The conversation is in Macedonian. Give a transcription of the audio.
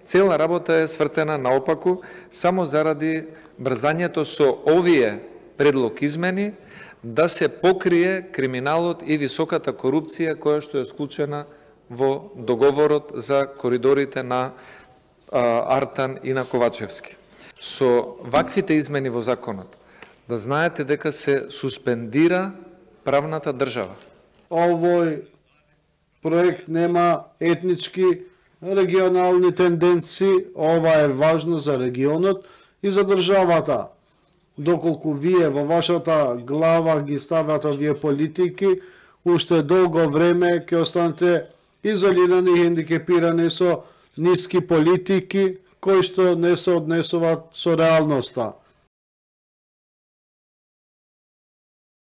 Цела работа е свртена наопаку само заради брзањето со овие предлог измени да се покрие криминалот и високата корупција која што е склучена во договорот за коридорите на Артан и на Ковачевски. Со ваквите измени во законот, да знаете дека се суспендира правната држава. Овој проект нема етнички регионални тенденции, ова е важно за регионот и за државата. Доколку вие во вашата глава ги ставате овие политики, уште долго време ќе останете изолирани и хендикепирани со ниски политики кои што не се однесуваат со реалноста.